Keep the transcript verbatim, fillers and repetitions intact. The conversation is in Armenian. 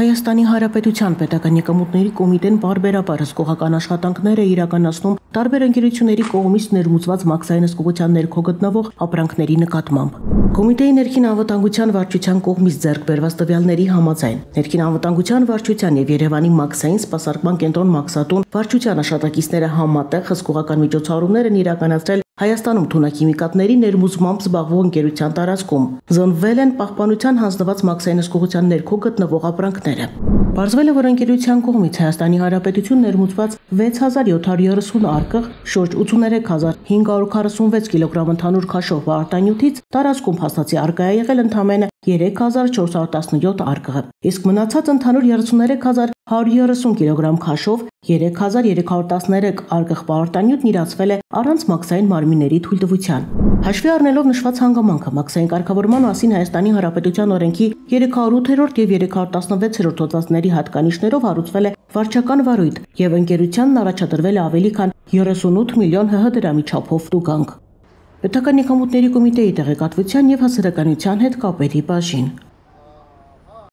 Հայաստանի Հանրապետության պետական եկամուտների կոմիտեն պարբերաբար հսկողական աշխատանքներ է իրականացնում տարբեր ընկերությունների կողմից ներմուծված մաքսային հսկողության ներքո գտնվող ապրանքների նկատմամբ։ Կոմիտեի ներքին անվտանգության վարչության կողմից ձեռք բերված տվյալների համաձայն ներքին անվտանգության վարչության եւ Երևանի մաքսային սպասարկման կենտրոն մաքսատուն վարչության աշխատակիցները համատեղ հսկողական միջոցառումներ են իրականացրել Հայաստանում թունաքիմիկատների ներմուծմամբ զբաղվող ընկերության տարածքում։ Զոնվել են պահպանության հանձնված մաքսային հսկողության ներքո գտնվող ապրանքները։ Պարզվել է, որ ընկերության կողմից Հայաստանի Հանրապետություն ներմուծված վեց հազար յոթ հարյուր երեսուն արկղ, շուրջ ութսուներեք հազար հինգ հարյուր քառասունվեց կիլոգրամ ընդհանուր քաշով բարտանյութից տարածքում փաստացի արկղ է եղել ընդամենը երեք հազար չորս հարյուր տասնյոթ արկղ, իսկ մնացած ընդհանուր երեսուներեք հազար հարյուր երեսուն կիլոգրամ քաշով երեք հազար երեք հարյուր տասներեք արկղ պարտանյութն իրացվել է առանց մաքսային մարմինների թույլտվության։ Հաշվի առնելով նշված հանգամանքը, մաքսային կարգավորման մասին Հայաստանի Հանրապետության օրենքի երեք հարյուր ութերորդ եւ երեք հարյուր տասնվեցերորդ հոդվածների հատկանիշներով հարուցվել է վարչական վարույթ եւ ընկերությանն առաջադրվել է ավելի քան երեսունութ միլիոն հ հ դրամի չափով տուգանք։ Պետական եկամուտների կոմիտեի տեղեկատվության եւ հասարակայնության հետ կապերի բաժին։